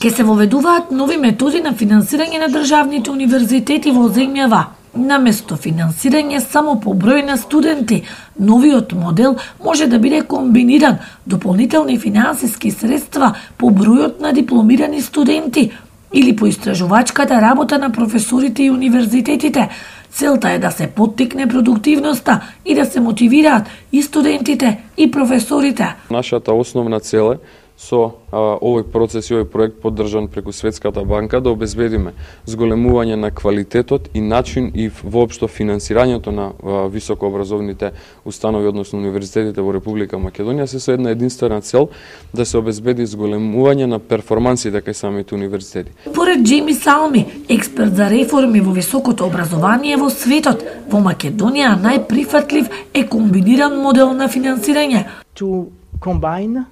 Ке се воведуваат нови методи на финансирање на државните универзитети во земјава. Наместо финансирање само по број на студенти, новиот модел може да биде комбиниран дополнителни финансиски средства по бројот на дипломирани студенти или по истражувачката работа на професорите и универзитетите. Целта е да се поттикне продуктивноста и да се мотивираат и студентите и професорите. Нашата основна цел е со овој процес и овој проект поддржан преку Светската банка да обезбедиме зголемување на квалитетот и начин и воопшто финансирањето на високообразовните установи, односно универзитетите во Република Македонија, се со една единствена цел да се обезбеди зголемување на перформансите кај самите универзитети. Поред Джейми Салми, експерт за реформи во високото образование во светот, во Македонија најприфатлив е комбиниран модел на финансирање. To combine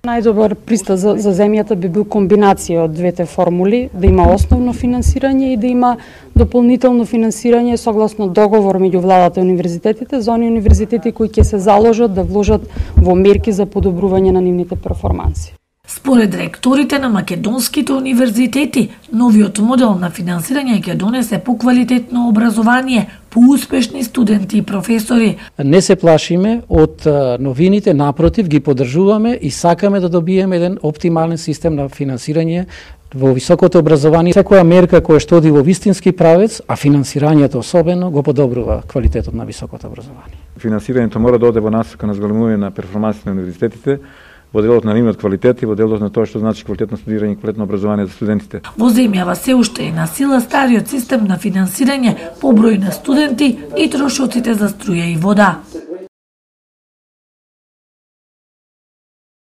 Најдобар пристап за земјата би бил комбинација од двете формули, да има основно финансирање и да има дополнително финансирање согласно договор меѓу владата и универзитетите за оние универзитети кои ќе се заложат да вложат во мерки за подобрување на нивните перформанси. Според ректорите на македонските универзитети, новиот модел на финансирање ќе донесе поквалитетно образование, поуспешни студенти и професори. Не се плашиме од новините, напротив ги поддржуваме и сакаме да добиеме еден оптимален систем на финансирање во високото образование. Секоја мерка која што оди во вистински правец, а финансирањето особено го подобрува квалитетот на високото образование. Финансирањето мора да оде во насока на зголемување на перформансите на универзитетите, во делот на нивниот квалитет и во делот на тоа што значи квалитетно студирање и квалитетно образование за студентите. Во земјава се уште е на сила стариот систем на финансирање по број на студенти и трошоците за струја и вода.